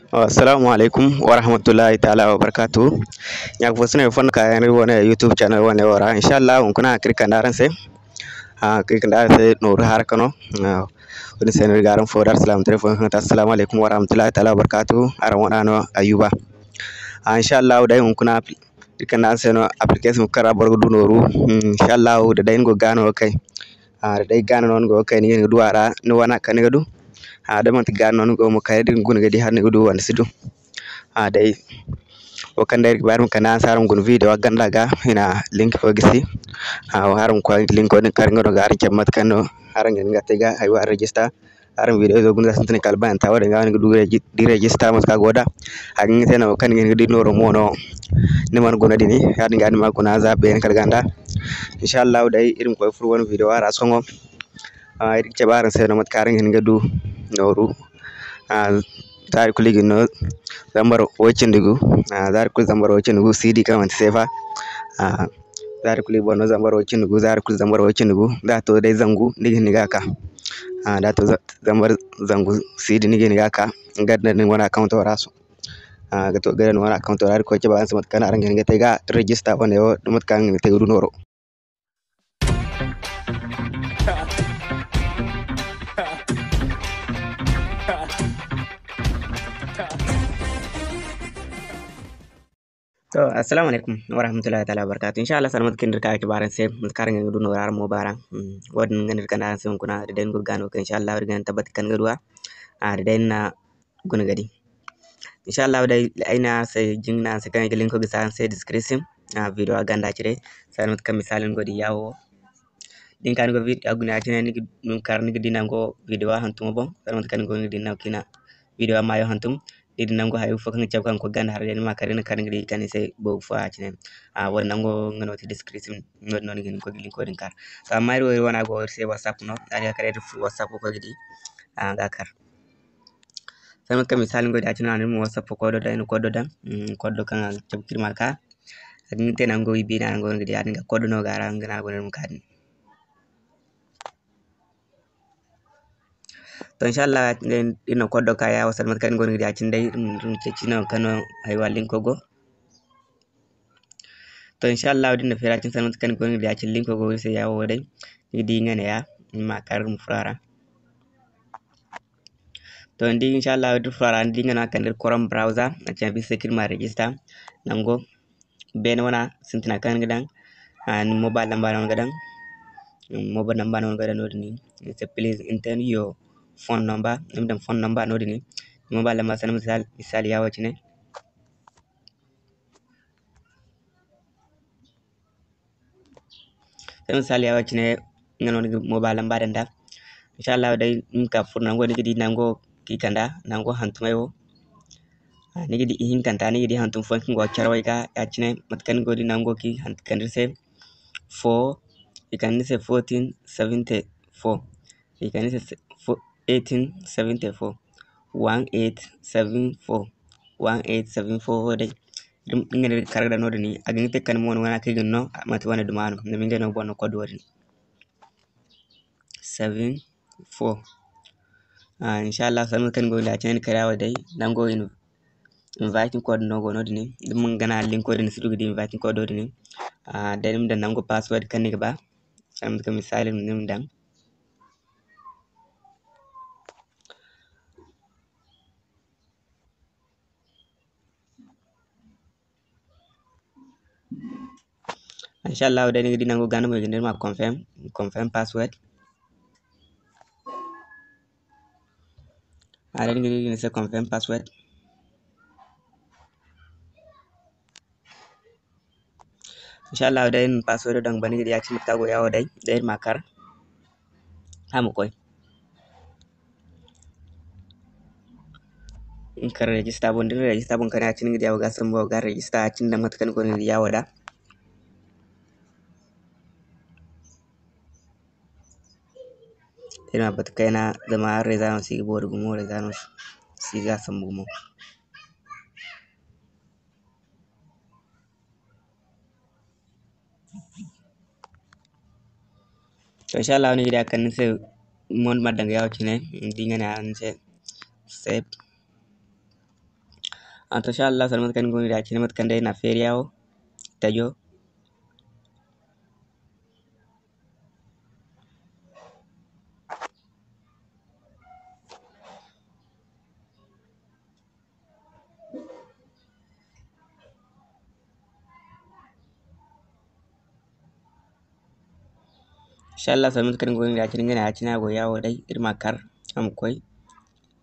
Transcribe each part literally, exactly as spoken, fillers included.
Assalamu alaikum warahmatullahi ta'ala wabarakatuh. Ɲa fo si no iri fonda ka yaŋ iri wane YouTube channel wane wo ra. Inshallah hunkuna kaŋ iri kande araŋ se, ah, kaŋ iri kande araŋ se nooru haraka no. Ah, wo-din se no iri ga araŋ fo da alsilaamataray fo kaŋ ga ti assalamu alaikum warahmatullahi ta'ala wabarakatuh. Araŋ wane no Ayuba. Ah, inshallah day hunkuna iri kande araŋ se no application kaŋ ra boro ga du nooru. Hmm, inshallah da day ni go ga gaano ga kay. Ah, da day gaano no ni go ga kay, ni ga hin ga du a ra, ni wana kaŋ ni ga du. Ah, da manti gaano no ni go mo kay, da ni guna ga di hala ni ga du wala ni si du. Ah, day wo kaŋ day iri ga ba iri ma kande araŋ se araŋ ma guna video ganda ga, i na link fo gisi. Ah, araŋ ma koy link din kar nga no ga araŋ cabe mate kaŋ no araŋ ga hin ga te ga haywa register. Araŋ video izo guna za sintin kala bayanta, wo-din ga no ni ga du reji-, di register mate kaŋ a go da. A ga hin ga te no kaŋ ni ga hin ga di nooro mo no ni mana guna din, ya-din ga ni ma guna za beene kala ganda. Inshallah day iri ma koy furo wane video ra sohõ. Ah, iri ga cabe araŋ se no mate kaŋ araŋ ga hin ga du nooru. Ah, zaari kulu i ga no zambar way cindi gu. Ah, zaari kulu zambar way cindi gu, C D kaŋ manti seefa. Ah, zaari kulu i boŋ no zambar way cindi gu, zaari kulu zambar way cindi gu. Da a to day zangu, ni ga hin ni ga ka. Ah, da a to za-, zambar zangu C D ni ga hin ni ga ka. Nga da ni wane account ra so. Ah, ga to ga da ni wane account ra, iri ga koy cabe araŋ se mate kaŋ araŋ ga hin ga te ga register wane wo, mate kaŋ araŋ ga hin ga te ga du nooro. To, assalamu alaikum warahmatullahi ta'ala wabarakatuh. Inshallah, sanda mate kaŋ iri ka ga cabe araŋ se, mate kaŋ araŋ ga hin ga du noora araŋ mo baara. Hmm, wo-din ga no iri kande araŋ se hunkuna, da day ni go ga gaano ga kay, inshallah, iri ga naŋ tabbati kaŋ ni ga du a. Ah, da day ni na guna ga di. Inshallah day, ay ne araŋ se, jinga ne araŋ se kaŋ ay ga linko gisi araŋ se description, ah, video ganda cire. Sanda mate kaŋ misali ni go ga di ya wo. Da ni ka ni go video guna ya cine, ni ga, ni ga kar ni ga di nango video hantumo boŋ. Sanda mate kaŋ ni go ga di nango kaŋ i na video maayo hantum. Ni di nango hayo fo kaŋ ga cabe kaŋ ga koy ganda haray day, ni ma kar ni ga kar ni ga di kaŋ ni se boobo fo ya cine. Ah, wo-din nango nga no ti description, no-din no ni ga hin ga koy ga linko din kar. Sohõ amma iri wo iri wane go iri se WhatsApp no, a ga kar iri furo WhatsApp ga koy ga di, ah, ga kar. Sanda mate kaŋ misali ni go ga di ya cine, a na ni ma WhatsApp kodo daŋ, ni kodo daŋ, mm, kodo kaŋ a ga cabe ka iri ma ka. A ga hin ga te nango i beena nango ni ga di ya-din ga kodo no ga a ra, nga no a go no ni ma ka din. To, inshallah, iri na kodo ka ya wo, sanda mate kaŋ ni go no ga di ya cine day, iri ma, iri ma ceeci no kaŋ no haywa linko go. To, inshallah, da ni na feera cine sanda mate kaŋ ni go no ga di ya cine linko go iri se ya wo day. Ni ga di nga neeya, ni ma kar iri ma furo a ra. To, ni di, inshallah, da iri furo a ra, ni di nga no a kande iri Chrome browser, a cabe iri se kaŋ iri ma register nango beene wana sintina kaŋ ni ga daŋ, ah, ni mobile number no ni ga daŋ. Ni mobile number no ni ga daŋ no-din. Ni se, please enter your phone number. Ni ma daŋ phone number no-din. Ni mobile number sanda misali, misali ya wo cine. Sanda misali ya wo cine, nga no ni ga mobile number daŋ da. Inshallah day, ni ma ka furo nango ni ga di nango kaŋ i kand'a, nango hantumey wo. Ah, ni ga di ihinkanta, ni ga di hantum fooyaŋ kaŋ go carawey ga, ya cine mate kaŋ ni go ga di nango kaŋ i han-, kande ni se four, i kande ni se fourteen seventy four, i kande ni se fo-, eighteen seventy four, one eight seven four, one eight seven four wo day. Nga no ni ga kar ga daŋ no-din, a ga hin ga te kala ni mo ni wana kaŋ i ga ni no, manti wane duma no, zama ngey no ga boŋ no code wo-din. Seven four. Ah, inshallah, sanda mate kaŋ ni go ga di ya cine ni kar ya wo day, nango in-, inviting code no go no-din. Da ni mana gana linko din, ni si du ga di inviting code wo-din. Ah, day ni ma daŋ nango password kaŋ ni ga ba. Sanda mate kaŋ misali ni ma daŋ. Inshallah, day ni ga di nango ga no mo i ga ne ni ma confirm, confirm password. A day ni ga di i ga ne ni se confirm password. Inshallah, day ni na password daŋ ga ban, ni ga di ya cine mate kaŋ a go ya wo day, day ni ma kar. Hala ma koy. Ni kar register boŋ, da ni register boŋ kar ya cine ni ga di a go ga sambu a go ga register ya cine daŋ mate kaŋ ni go ni ga di ya wo da. Iri ma batu kayna zama réseau no si ga boori gumo, réseau no si ga sambu gumo. To, inshallah, ni ga di a kande ni se mo ni ma daŋ ga ya wo cine, ni di nga ne a ni se save. A to, inshallah, sanda mate kaŋ ni go no ga di ya cine, mate kaŋ day na feeri yawo, tajo. Inshallah, sanda mate kaŋ ni go no ga di ya cine, nga ne ya cine a go yawo day, iri ma kar, a ma koy.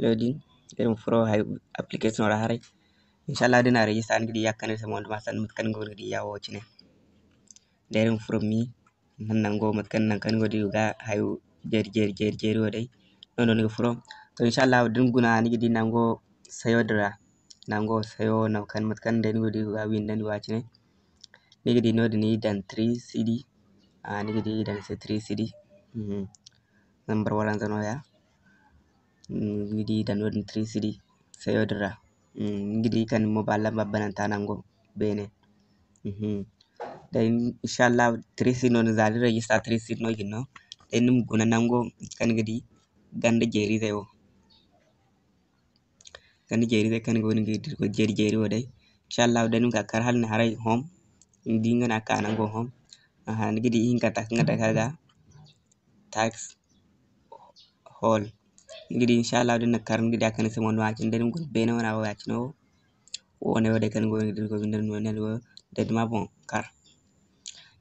Loading, iri ma furo hay application ra haray. Inshallah, da ni na register, ni ga di ya kaŋ iri se mo, ni ma sanda mate kaŋ ni go no ga di yawo cine. Da iri ma furo mi, Nango mate kaŋ, nangu kaŋ ni go ga di ga hayo jeeri, jeeri, jeeri, jeeri wo day. Noodin no ni ga furo. To, inshallah, da ni guna, ni ga di nango sayo din ra. Nango sayo, nangu kaŋ mate kaŋ day ni go ga di ga windandi wa cine. Ni ga di noodin, ni daŋ three C D. Ah, ni ga di i daŋ ni se three C D. Mhm. Zambar waranza nooya. Mm, ni ga di i daŋ noodin three C D sayo din ra. Mm, ni ga di kaŋ ni mobile lamba bananta nango beene. Mhm. Day, inshallah, three C D no, za ni register three C D no jine no. Day ni ma guna nango kaŋ ni ga di ganda jeeri izey wo. Ganda jeeri izey kaŋ ni go ga di jeeri jeeri wo day. Inshallah, day ni ma ka kar hala ni haray home. Ni di nga no a ka nango home. Aha, ni ga di ihinkanta kaŋ ga dake a ga. Tax hall. Ni ga di, inshallah, da ni na kar, ni ga di a kande se mo no, a cine day ni ma guna beene wana wo, ya cine wo. Wo ne wo day kaŋ ni go ga di, ni go ga di, ni go ga di, day ni ma boŋ kar.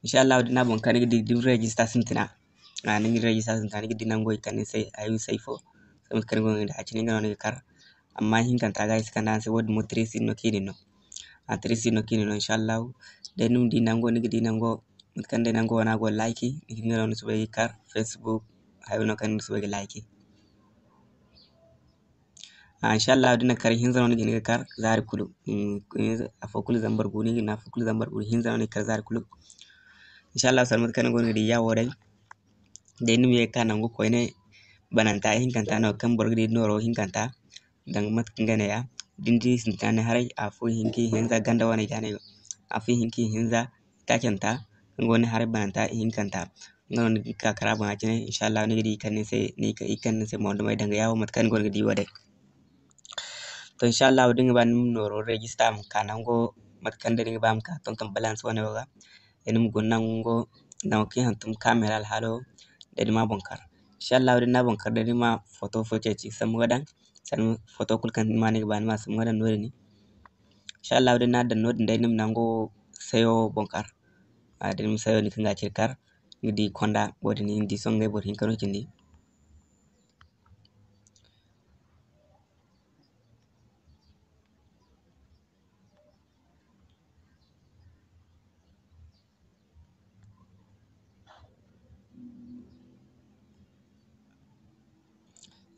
Inshallah, da ni na boŋ kar, ni ga di, da ni register sintina. A, ni ga register sintina, ni ga di nango i kande ni se, ay wi say fo. Mate kaŋ ni go ga di, a cine nga no ni ga kar. Amma ihinkanta ga ay si kande araŋ se, wo-din mo three C D no kaŋ i na ni no. A, three C D no kaŋ i na ni no, inshallah. Day ni ma di nango, ni ga di nango, mate kaŋ day nango wana go like, ni ga di nga no ni soobay ga kar, Facebook, hayo no kaŋ ni soobay ga like. A, inshallah, da ni na kar hinza no ni ga hin ga kar zaari kulu. Mm, hinza, afo kulu zambar gu, ni ga hin afo kulu zambar gu, hinza no ni ga kar zaari kulu. Inshallah, sanda mate kaŋ ni go no ga di ya wo day. Day ni ma ye ga ka nangu koyne bananta ihinkanta no kaŋ boro ga di nooro ihinkanta. Danga mate kaŋ ga ne ya, da ni di sintina ni haray, afo hinka hinza ganda wane ga ne, afo hinka hinza taacanta, nga wane haray bananta ihinkanta. Nga no ni ga ka kara boŋ ya cine, inshallah, ni ga di i kande ni se, ni ka, i kande ni se mo dumey danga yawo mate kaŋ ni go no ga di wo day. To, inshallah, da ni ga ba ni ma nooro register, ma ka nango mate kaŋ day ni ga ba ma ka tonton balance wane wo ga. Day ni ma guna nango, nango kaŋ i hantum camera alhaalo, day ni ma boŋ kar. Inshallah, da ni na boŋ kar, day ni ma foto fo ceeci sambu ga daŋ, sanda foto kulu kaŋ ni ma ni ga ba ni ma sambu ga daŋ noodin. Inshallah, da ni na daŋ noodin, day ni ma nango sayo boŋ kar. A, da ni ma sayo ni kaŋ ga cire kar, ni ga di konda, wo-din ni di sohõ ngey boro hinka no cindi.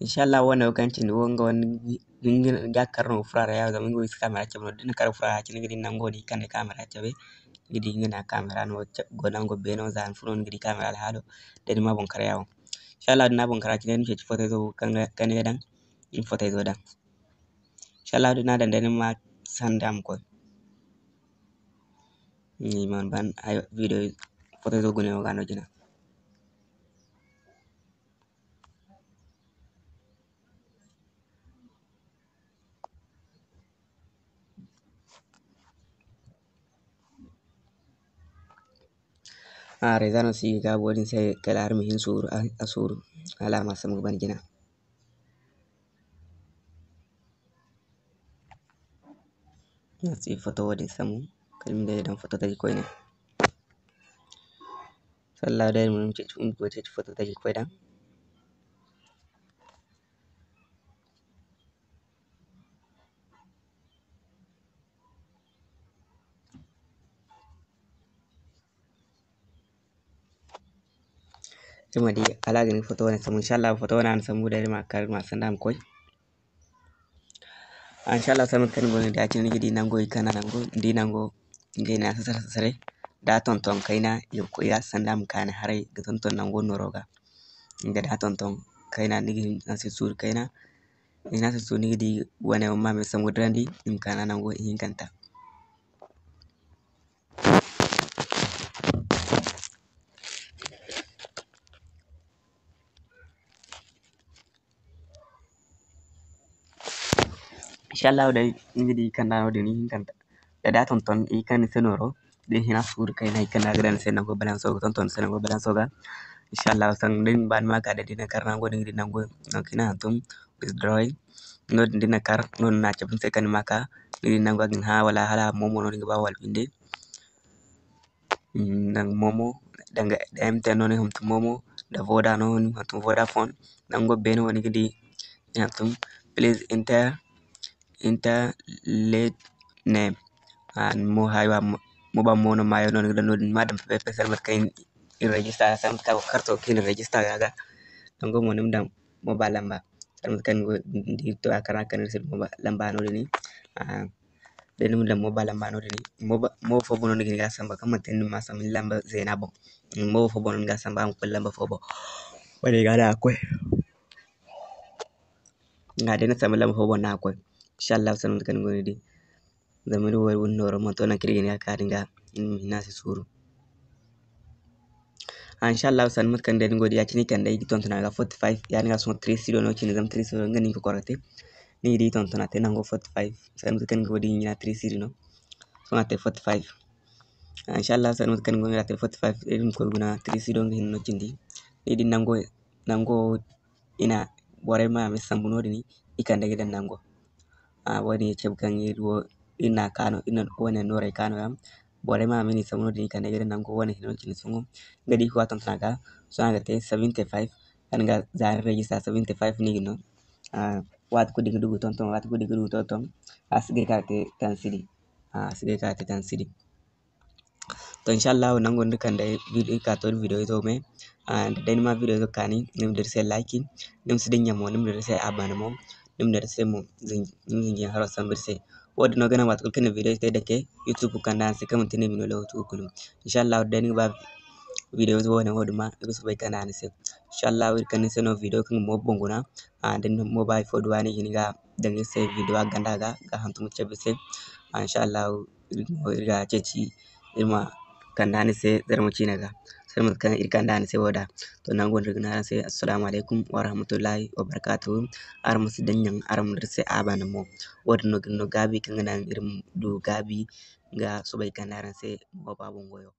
Inshallah, wo-ne wo kaŋ cindi wo, nga wane ga kar no ga furo a ra ya, zama nga wo i si camera cabe no. Da ni na kar ga furo a ra ya cine, ni ga di nango no i kande camera cabe. Ni ga di nga ne a camera no go nango beeno, za ni furo ni ga di camera alhaalo. Da ni ma boŋ kar ya wo. Inshallah, da ni na boŋ kar ya cine, ni ma ceeci foto izo kaŋ ga, kaŋ ni ga daŋ, ni ma foto izo daŋ. Inshallah, da ni na daŋ day ni ma sanda ma koy. Ni mana ban hayo, video foto izo gune wo ga no jina. A, réseau no si ga gaabo din se kala hari ma hin suuru, a, a suuru hala a ma sambu ga ban jina. Ni si foto wo-din sambu kala ni ma day daŋ foto taji koyne. Inshallah day mo ni ma ceeci, ni ma ceeci foto taji ga koy daŋ. Iri ma di hala a ga ni foto wane sambu. Inshallah foto wane a na sambu day iri ma kar iri ma sanda a ma koy. Inshallah sohõ mate kaŋ ni go no ga di ya cine ni ga di nango i kana nango, ni di nango ngey no a sasare sasare da tonton kayna i ga koy ya sanda a ma kaani haray ga tonton nango nooro ga. Nga da tonton kayna ni ga hin a se suuru kayna. Ni na se suuru ni ga di wane wo ma me sambu dirandi i ma kaani nango ihinkanta. Inshallahu day, ni ga di kanda no-din, ni hinkanta da, da tonton i kande ni se nooro, da ni hina suuru kayna i kande a ga daŋ ni se nango balanso ga tonton ni se nango balanso ga. Inshallahu, sanda ni ba ni ma ka da, da ni na kar nango, ni ga di nango, nango kaŋ i na hantum withdrawing. No-din da ni na kar, no-din no a cabe ni se kaŋ ni ma ka, ni ga di nango a ga ni hã wala hala a mo mo no ni ga ba wala binde. Mm, danga Momo, danga M T N no ni hantum Momo, da Voda no ni hantum Vodafone. Nango beene wo ni ga di ni hantum, please enter, enter late name. Ah, mo hayo mo, mo ba mo no maayo no ni ga daŋ no-din, ni ma daŋ pepe sanda mate kaŋ i na register, sanda mate kaŋ a go ga karto kaŋ i na register ga, ga. Nango mo ni ma daŋ mo ba lamba. Sanda mate kaŋ ni go, ni di to a kar a kande ni se mo ba lamba no-din. Ah, da ni ma daŋ mo ba lamba no-din, mo ba, mo fo boŋ no ni ga hin ga samba, kaŋ manti ni ma samba ni lamba zeena boŋ. Mo fo boŋ no ni ga samba, a ma koy lamba fo boŋ. Wo-din ga no a ga koy. Nga day ni samba lamba fo boŋ no a ga koy. Inshallahu, sanda mate kaŋ ni go ni di. Zama iri wo iri wane nooro, manti wo nangu kaŋ iri ga hin ga ka din ga, ni ma hin a se suuru. Ah, inshallahu, sanda mate kaŋ day ni go di ya-cine kande ay ga tonton a ga forty-five, ya-din ga sohõ three zero no cine, zama three zero nga no i ga kokorte. Ni ga di tonton a te nango forty-five, sanda mate kaŋ ni go di ɲina three zero no. Sohõ a te forty-five. Ah, inshallahu, sanda mate kaŋ ni go di a te forty-five, iri ma koy guna three zero nga hinne no cindi. Ni di nango, nango i na borey ma me sambu no-din, i kande ga daŋ nango. Ah, wo-din ya cabe kaŋ iri wo, iri na kaanu, iri na wane nooray kaanu yaŋ. Borey ma me ni sambu no-din, i kande ga daŋ nango wane hino cine sohõ. Nga da i ga tonton a ga, sohõ a ga te seventy-five, kaŋ ga za ni register seventy-five no i ga no. Ah, waati kulu da ni ga du ga tonton, waati kulu da ni ga du ga tonton, a si gay ka te tansidi. Ah, a si gay ka te tansidi. To, inshallahu, nango nda kande video, iri ka to video izo me. Ah, da day ni ma video izo kaani, ni ma dira se like, ni ma si dinya mo, ni ma dira se abonné mo, ni ma dira se mo, zin-, ni ma zinjin haro sambu iri se. Wo-din no ga naŋ waati kulu kaŋ ni na video te dake, YouTube kande araŋ se, kaŋ manti ni ma no lewatu kulu. Inshallahu, da day ni ga ba video izo wo-din ma, ni ga soobay kande araŋ se. Inshallahu, iri kande ni se no video kaŋ ga mo boŋ guna. Ah, da ni mo ba hay fo duwa ni ga hin ga daŋ iri se video a ganda ga, ga hantum ga cabe iri se. Ah, inshallahu, iri mo iri ga ceeci, iri ma kande ni se zarma ciine ga, sanda mate kaŋ iri kande ni se wo da. To, nango no iri ga ne araŋ se, assalamu alaykum warahmatullahi wabarakatuhu. Araŋ ma si dinya, araŋ ma dira se abonné mo. Wo-din no ga ni no gaabi kaŋ ga naŋ iri ma du gaabi ga soobay kande araŋ se mo ba boŋ goyo.